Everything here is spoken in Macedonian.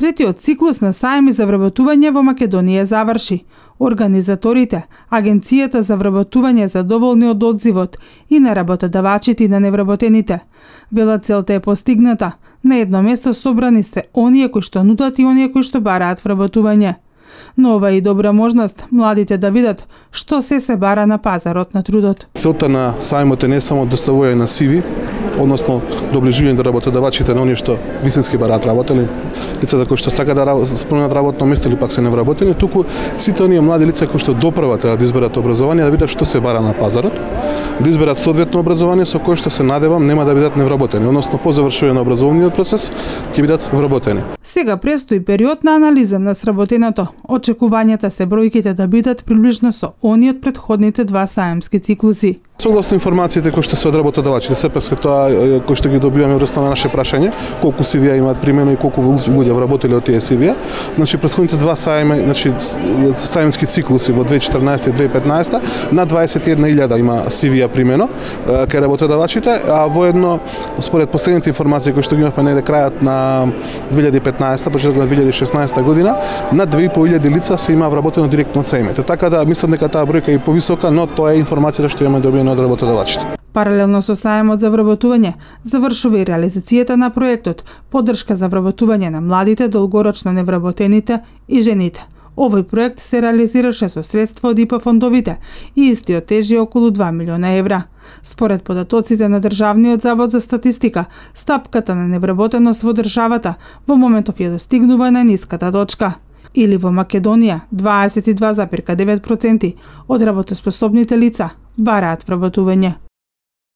Третиот циклус на саеми за вработување во Македонија заврши. Организаторите, Агенцијата за вработување задоволни од одзивот и на работодавачите и на невработените. Велат целта е постигната. На едно место собрани се оние кои што нудат и оние кои што бараат вработување. Но ова е и добра можност младите да видат што се бара на пазарот на трудот. Целта на сајмот е не само доставување на CV, односно доближување до работодавачите на оние што вистински бараат работели, лицата кои што сакаат да спомнат работно место или пак се невработени, туку сите оние млади лица кои што допрва треба да изберат образование, да видат што се бара на пазарот, да изберат соодветно образование со кое што се надевам нема да бидат невработени, односно по завршување на образовниот процес ќе бидат вработени. Сега престои период на анализа на сработеното. Очекувањата се бројките да бидат приближно со оние од претходните два саемски циклуси. Согласно информациите кои што се од работодавачите, сепак тоа кои што ги добиваме врз на наше прашање, колку CV имаат примено и колку луѓе вработеле од тие CV. Значи претходните два саеми, значи саемски циклуси во 2014 и 2015, на 21.000 има CV примено кај работодавачите, а воедно според последните информации кои што ги имавме негде крајот на 2015, почетокот на 2016 година, на 2.500 лица се има вработено директно од саемите. Така да мислам дека таа бројка е повисока, но тоа е информацијата што имаме добиена од работодавачите. Паралелно со саемот за вработување, завршува и реализацијата на проектот поддршка за вработување на младите, долгорочно невработените и жените. Овој проект се реализираше со средства од ИПА фондовите и истиот тежи околу 2 милиона евра. Според податоците на Државниот завод за статистика, стапката на невработеност во државата во моментов ја достигнува најниската точка. Или во Македонија 22,9% од работоспособните лица бараат вработување.